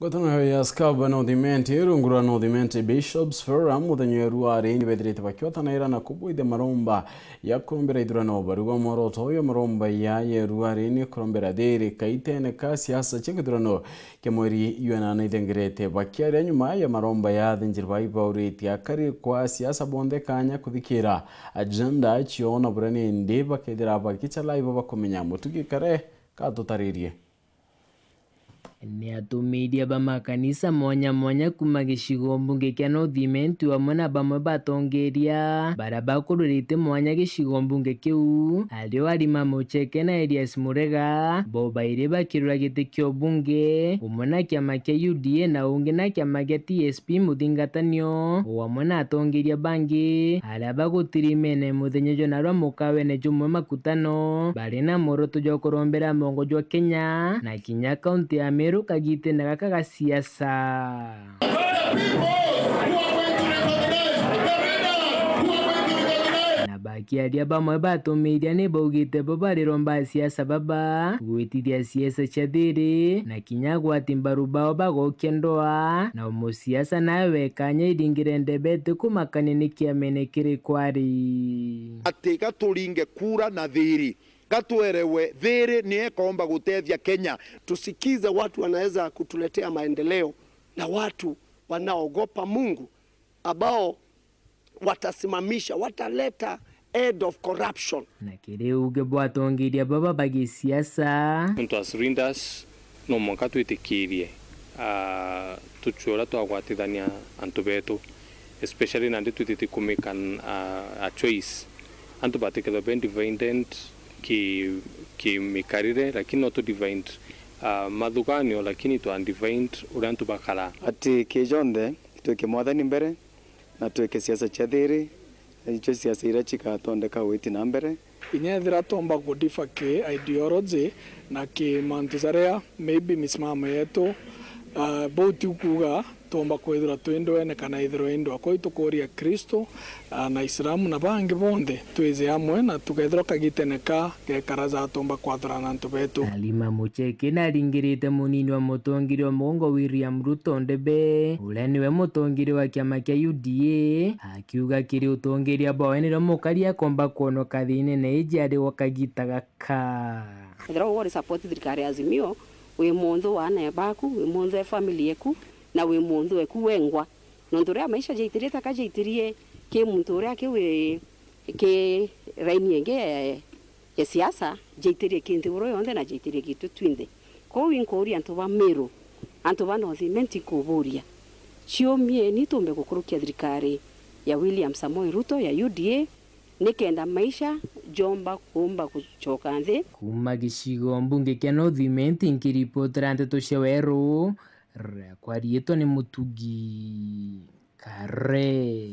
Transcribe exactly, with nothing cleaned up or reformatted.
Ngwataniro ya Scab na Uthimenti, rungu rwa North Imenti Bishops Forum, muthenya wa ruari ni bethirite bakiotanaira na kubwithia maromba ya kurombera ithurano. Bari bwa mworoto uyu, maromba ya ya ruari ni kurombera thiri kaitene ka siasa cia githurano kia mweri jwa nana ithengerete. Bakiaria nyuma ya maromba ya athinjiri bai bauritie akari kwa siasa bonthe kanya kuthikira agenda ciao na buria nindi bakethira bagicha live bakumenya. Mutugi Kare katutaririe. Ni atumiria ba makanisa mwanya mwanya kuma gicigo mbunge kia North Imenti amwe na bamwe batongeria baria bakururite mwanya gicigo mbunge kiu, ario Halima Mucheke na Elias Murega, bo bairi bakirura giti kia ubunge, umwe na kiama kia U D A na ungi na kiama gia T S P muthingatanio, o amwe na atongeria bangi aria bagutirimene muthenya jwa narua mukawene jumwe makutano, bari na mworoto jwa kurombera mongo jwa Kenya na kinya kaunti ya Meru kagitene gaka ga siasa. Na bakiaria bamwe batumiria ni baugite bo bariromba siasa baba gwitithia siasa cia thiri na kinya gwati mbaru bao bagokia ndoa, na umusiasa nawe wekanya iringire ndebete kumakania ni kiamene kiri kwari. Ati gaturinge kura na thiri, gatwerewe thiri ni ekomba gutethia Kenya. Tusikize watu wanaweza kutuletea maendeleo na watu wanaogopa Mungu, ambao watasimamisha, wataleta end of corruption. Na kiri uge bwa atongeria baba ba gisiasa. Nontu as leaders, no mwanka twitikirie, ah, tucue uria twagwatithania antu betu, especially nandi twithitie ku make an, ah, a choice. Antu batikethwa be divided ki, ki mikarire, lakini no tu divided, ah, mathuganio, lakini twa divided uria antu bakara. Ati ki jonthe twike Mwathani mbere, na twike siasa cia thiri, icio siasa iria cigatondeka witi na mbere. Inya ethira twomba kudifa ki ideology na ki mantu jaria maybe misimamo yetu, ah, bau ti kuuga twomba kwithirwa twi ndwene kana ithirwa i ndwa. Kwou itukuria Kristo, ah, na Islamu na bangi bonthe twije amwe na tukethirwa kagitene ka gekara ja twomba kwathurana antu betu. Halima Mucheke naringirite munini wa mutongeria wa mugongo William Ruto ndebe, uria niwe mutongeria wa kiama kia U D A, akiuga kiri utongeria bwawe nirio mukari akomba kwonoka thiinene iji ari gwa kagita gaka. Ethirwa uri support thirikari ya Azimio, wi munthu wa aana baku, wi munthu e family yeku, na wi munthu eku wengwa. Nontu riria maisha jaitirie taka jaitirie ki muntu uria aki wi ki raini ingi ya, ya siasa, jaitirie ki nthiguru yonthe na jaitirie gitu twinthe. Kwou inkuuria antu ba Meru, antu ba North Imenti nkuburia, ciumieni tumbe gukurukia thirikari ya William Samoei Ruto ya U D A, nikenda maisha jomba kuumba gucoka nthi. Kuma gicigo mbunge kia North Imenti, nkiripotera nteto cia Weru, riakwa riitwa ni Mutugi Kare.